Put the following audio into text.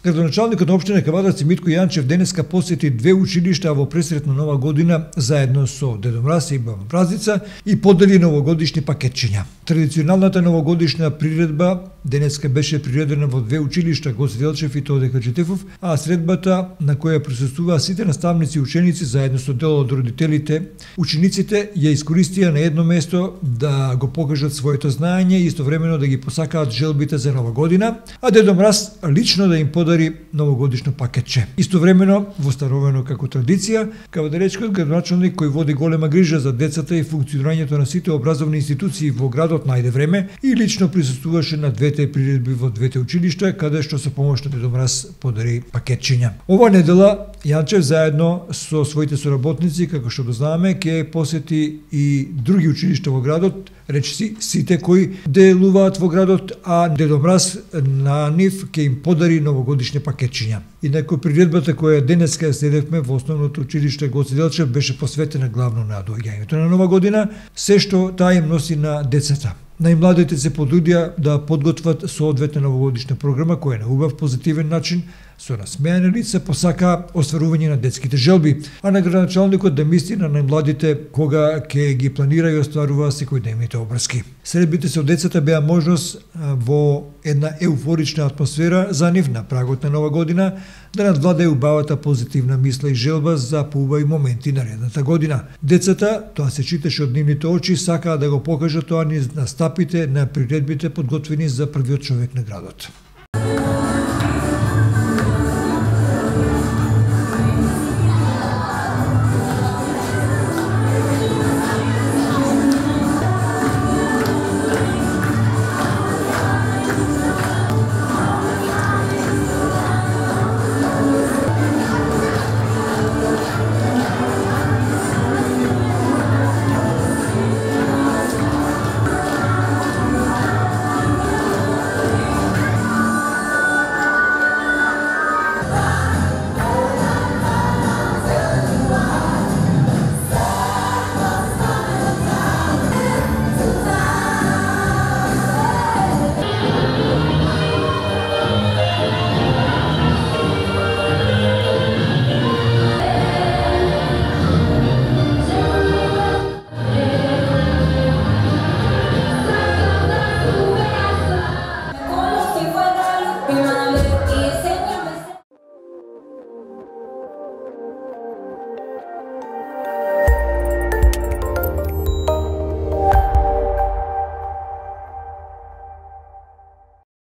Градоначалникот на општина Кавадарци Митко Јанчев денеска посети две училишта во пресрет на Нова година заедно со Дедо Мраз и Баба Празница и подели новогодишни пакетчиња. Традиционалната новогодишна приредба денеска беше приредена во две училишта Гоце Делчев и Тоде Хаджитефов, а средбата на која присуствуваа сите наставници и ученици заедно со дел од родителите, учениците ја искористија на едно место да го покажат своето знаење и истовремено да ги посакаат желбите за Нова година, а Дедо Мраз лично да им подари новогодишно пакетче. Истовремено, воставено како традиција, кавадаречкиот градоначалник кој води голема грижа за децата и функционирањето на сите образовни институции во градот најде време и лично присуствуваше на двете приредби во двете училишта, каде што со помош на Дедо Мраз подари пакетчиња. Ова недела Јанчев заедно со своите соработници, како што го знаеме, ќе посети и други училишта во градот, речиси сите кои делуваат во градот, а Дедо Мраз на нив ќе им подари новогодишни пакетчиња. Инаку приредбата која денеска следевме во основното училиште Гоце Делчев беше посветена главно на доаѓањето на Нова година, се што таа им носи на децата. Најмладите се потрудија да подготват соодветна новогодишна програма која на убав позитивен начин со насмеани лица посака остварување на детските желби, а на градоначалникот да мисли на најмладите кога ќе ги планира и остварува секојдневните обрски. Средбите со децата беа можност во една еуфорична атмосфера за нив на прагот на Нова година да надвладае убавата позитивна мисла и желба за поубави моменти наредната година. Децата, тоа се читаше од нивните очи, сакаа да го покажат тоа на стапите на приредбите подготвени за првиот човек на градот.